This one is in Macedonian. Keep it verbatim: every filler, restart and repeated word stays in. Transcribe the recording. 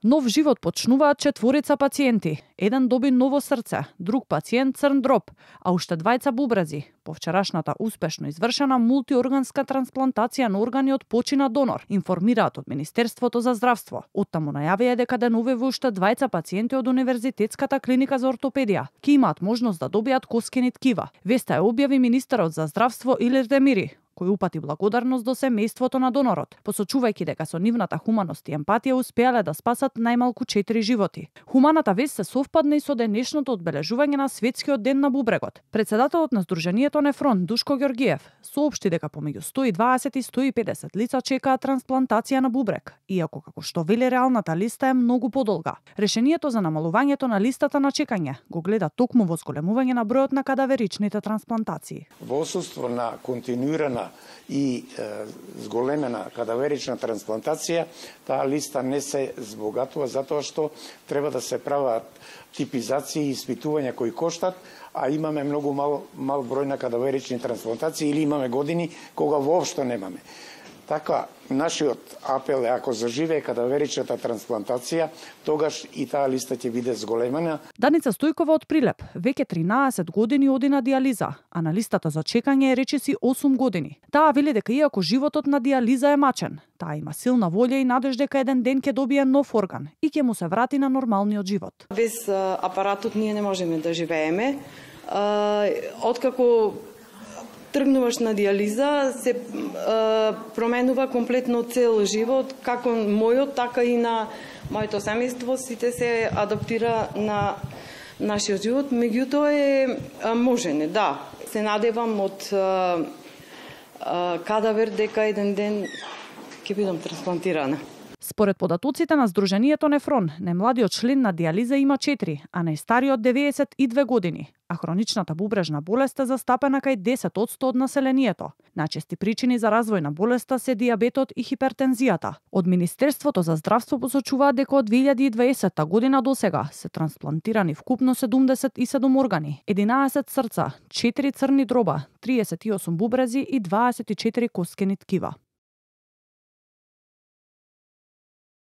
Нов живот почнуваат четворица пациенти. Еден доби ново срце, друг пациент црн дроб, а уште двајца бубрези. По вчерашната успешно извршена мултиорганска трансплантација на органи од почина донор, информираат од Министерството за здравство. Оттаму најавија дека деновиве уште двајца пациенти од Универзитетската клиника за ортопедија ќе имаат можност да добијат коскени ткива. Веста ја објави министерот за здравство Илир Демири, кој упати благодарност до семејството на донорот, посочувајќи дека со нивната хуманост и емпатија успеале да спасат најмалку четири животи. Хуманата вест се совпадна и со денешното одбележување на Светскиот ден на бубрегот. Председателот на Сдруженијето Нефрон Душко Ѓорѓиев соопшти дека помеѓу сто и дваесет и сто и педесет лица чекаат трансплантација на бубрег, иако како што вели реалната листа е многу подолга. Решението за намалувањето на листата на чекање го гледа токму во зголемување на бројот на кадаверичните трансплантации. Во отсуство на континуирана и е, зголемена кадаверична трансплантација, таа листа не се збогатува затоа што треба да се прават типизации и испитувања кои коштат, а имаме многу мал, мал број на кадаверични трансплантации или имаме години кога воопшто немаме. Така, нашиот апел е ако заживее кадаверичната трансплантација, тогаш и таа листа ќе биде зголемена. Даница Стојкова од Прилеп веќе тринаесет години оди на диализа, а на листата за чекање е речиси осум години. Таа вели дека иако животот на диализа е мачен, таа има силна волја и надеж дека еден ден ќе добие нов орган и ќе му се врати на нормалниот живот. Без апаратот ние не можеме да живееме. Откако тргнуваш на диализа, се е, променува комплетно цел живот, како мојот, така и на моето семејство, сите се адаптира на нашиот живот, меѓутоа е можене, да. Се надевам од е, е, кадавер дека еден ден ќе бидам трансплантирана. Според податоците на Сдруженијето Нефрон, најмладиот член на диализа има четири, а најстариот деветдесет и две години. А хроничната бубрежна болест е застапена кај десет одсто од населението. Најчести причини за развој на болеста се дијабетот и хипертензијата. Од Министерството за здравство посочуваат дека од две илјади и дваесетта година до сега се трансплантирани вкупно седумдесет и седум органи, единаесет срца, четири црни дроба, триесет и осум бубрези и дваесет и четири коскени ткива.